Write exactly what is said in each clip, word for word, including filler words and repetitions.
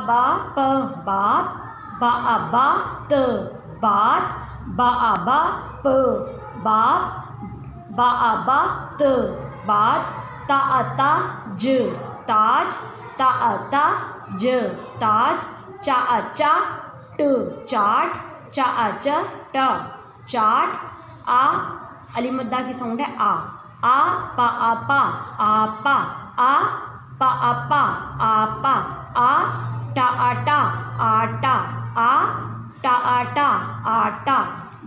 बा प बाप, बा आ बा त बात, बा आ बा प बाप, बा आ बा त बात, ता आ ता ज ताज, ता आ ता ज ताज, चा आ चा ट चाट, चा आ च ट चाट। आ अली मद्दा की साउंड है आ। आ पा आ पा आपा, आ पा आ पा आपा, आ टा आटा आटा, आ टा आटा आटा,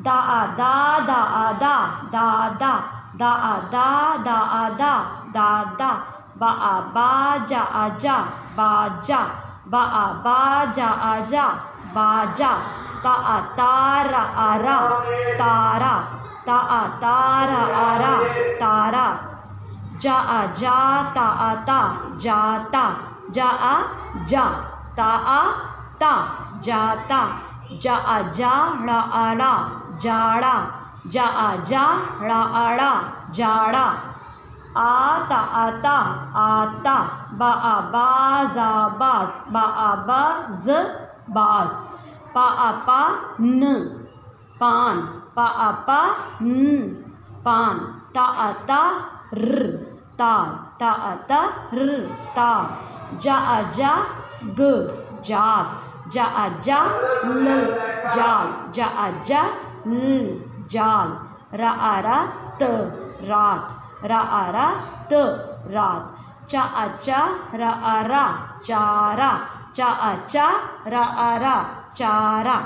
दा आ दा दा आ दा दा दा, दा आ दा दा आ दा दा दा, बा आ बा जा आ जा बा जा, बा आ बा जा आ जा बा जा, ता आ तारा आ रा तारा, ता आ तारा आ रा तारा, जा आ जा ता आ ता जाता, जा आ जा ता आ ता जाता, जा आ जा ड़ा आ ड़ा जाड़ा, जा आ जा ड़ा आ ड़ा जाड़ा, आ ता आता आता, बा आ बा जा बाज, बा आ बा ज बाज, पा आ पा न पान, पा आ पा न पान, ता आ ता र तार, ता आ ता र तार, जा आ जा ग जाग, जा आ जा ल जाल, जा आ जा ल जाल, रा आ रा त रात, रा आ रा त रात, चा आ चा रा आ रा चारा, चा आ चा रा आ रा चारा।